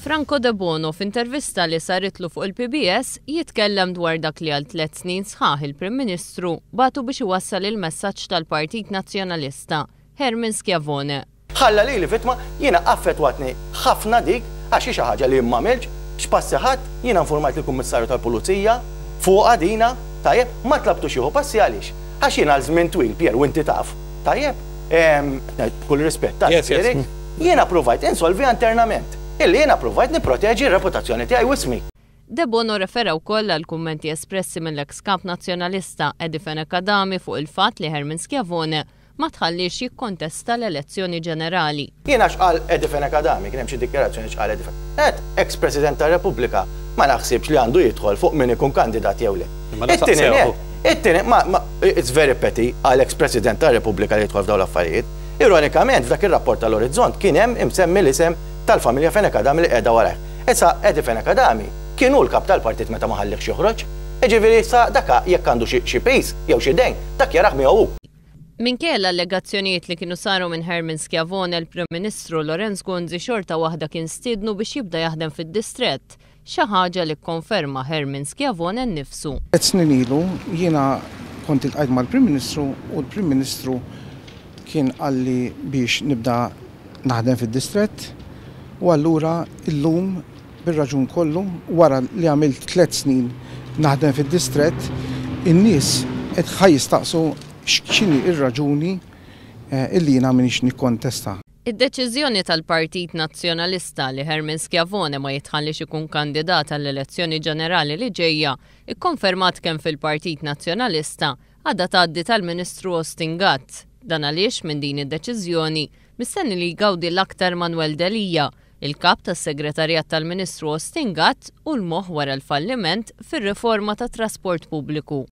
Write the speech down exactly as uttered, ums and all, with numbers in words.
Franco Debono, f'intervista li saritlu fuq il-P B S, jitkellem dwar dak li għal tliet snin sħaħ il-Prim Ministru bagħtu biex iwassal il-messaġġ tal-Partit Nazzjonalista, Herman Schiavone. Ħalla li li vittma. Jiena affettwatni ħafna dik, għax xi ħaġa li m'għamiltx. X'passi ħadd? Jiena informajt il-Kummissarju tal-Pulizija fuq dina, tajjeb, ma tlabtux jieħu passi. Għaliex? Għax jiena għal żmien twil, Pier, u inti taf, tajjeb, b'kull rispett, jiena provajt insolvi internament illi jiena provajt niproteġi r-reputazzjoni tiegħi u ismi. Debono refera wkoll għal kummenti espressi mill-ex kap nazzjonalista Eddie Fenech Adami fuq il-fatt li Herman Schiavone ma tħallix jikkontesta l-elezzjoni ġenerali. Jiena x'qal Eddie Fenech Adami, kien hemm xi dikjarazzjoni x'qal Eddie Fenech. Ex-President tar-Repubblika ma naħsibx li għandu jidħol fuq min ikun kandidat jew le. It-tieni, it-tieni, ma it's very petty għal ex-President tar-Repubblika li jidħol f'dawn l-affarijiet. Ironikament, f'dak ir-rapport tal-Orizzont kien hemm imsemmi l-isem tal-familja Fenech Adami li qiegħda warajh. Issa Eddie Fenech Adami kienu l-kap tal-partit meta ma ħallihx joħroġ. Jiġifieri sa daka jekk għandu xi piż jew xi dejn, dak jarah miegħu. Minkejja l-allegazzjonijiet li kienu saru minn Herman Schiavone, il-Prim Ministru Lawrence Gonzi xorta waħda kien stiednu biex jibda jaħdem fid-distrett, xi ħaġa li kkonferma Herman Schiavone nnifsu. Snin ilu jiena kont iltqajt mal-Prim Ministru u l-Prim Ministru kien qalli biex nibda naħdem fid-distrett u allura illum, bir-raġun kollu, wara li għamilt tliet snin naħdem fid-distrett, in-nies qed ħa jistaqsu x'inhi ir-raġuni eh, illi jiena m'iniex nikkontesta. Id-deċiżjoni tal-Partit Nazzjonalista li Herman Schiavone ma jitħallix ikun kandidat għall-elezzjoni ġenerali li ġejja, ikkonfermat kemm fil-Partit Nazzjonalista, għadha tgħaddi tal-Ministru Austin Gatt. Dan għaliex minn din id-deċiżjoni mistenni li jgawdi l-aktar Manuel Delia, il-kap tas-segretarjat tal-Ministru Austin Gatt u l-moħ wara l-falliment fir-riforma tat-trasport pubbliku.